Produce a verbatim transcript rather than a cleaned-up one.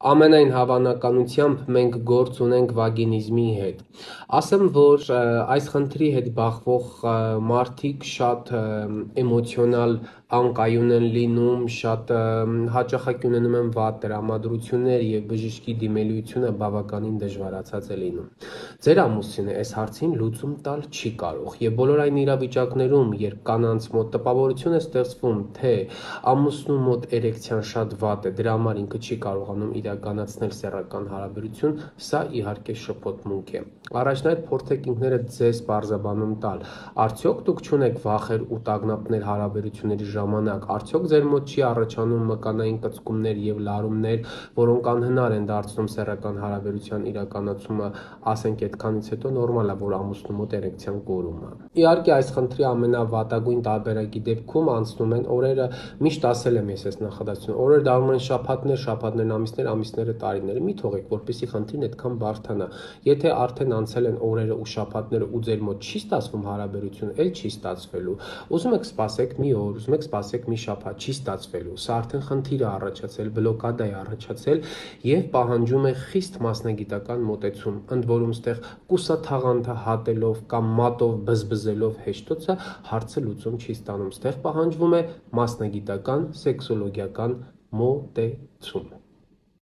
ամենայն հավանականությամբ մենք գործ ունենք վագինիզմի հետ։ Ասեմ, որ այս խնդրի հետ բախվող մարդիկ շատ էմոցիոնալ անկայուն են լինում, շատ հաճախակի ունենում են վատ տրամադրություններ եւ բժշկի դիմելիությունը բավականին դժվարացած է լինում։ Ձեր ամուսինը այս հարցին լուծում տալ չի կարող եւ բոլոր այն իրավիճակներում, երբ կանանց մոտ տպավորություն է ստեղծվում, թե ամուսնու մոտ էրեկցիան շատ վատ է, դրա համար ինքը չի կարողանում իրականացնել սեռական հարաբերություն, սա իհարկե շփոթմունք է։ Առաջնայդ փորձեք ինքներդ ձեզ բարձաբանում տալ, արդյոք դուք չունեք վախեր ու տագնապներ հարաբերությունների ժամանակ, արդյոք ձեր մոտ չի առաջանում մկանային կծկումներ եւ լարումներ, որոնք անհնար են դարձնում սեռական հարաբերության իրականացումը, ասենք այդքանից հետո նորմալ է, որ ամուսնու մոտ էրեկցիան կորում է։ Իհարկե այս խնդրի ամենավատագույն տարբերակի դեպքում անցնում են օրերը, միշտ ասել եմ ես այս նախադասությունը, օրերը դառնում են շաբաթներ, շաբաթներն ամիսներ, ամիսները տարիներ, մի թողեք, որպեսզի խնդիրն այդքան բարդանա։ Եթե արդեն անցել են օրերը ու շաբաթները ու ձեր մոտ չի ստացվում հարաբերություն, էլ չի ստացվելու։ Ուզում եք սպասեք մի օր, ուզում եք սպասեք մի շաբաթ, չի ստացվելու։ Սա արդեն խնդիր է առաջացել, բլոկադա է առաջացել եւ պահանջում է խիստ մասնագիտական մոտեցում, ընդ որում ստեղ կուսաթաղանթը հատելով կամ մատով բզբզելով հեշտոցը հարցը լուծում չի ստանում։ Ստեղ պահանջվում է մասնագիտական սեքսոլոգիական մոտեցում։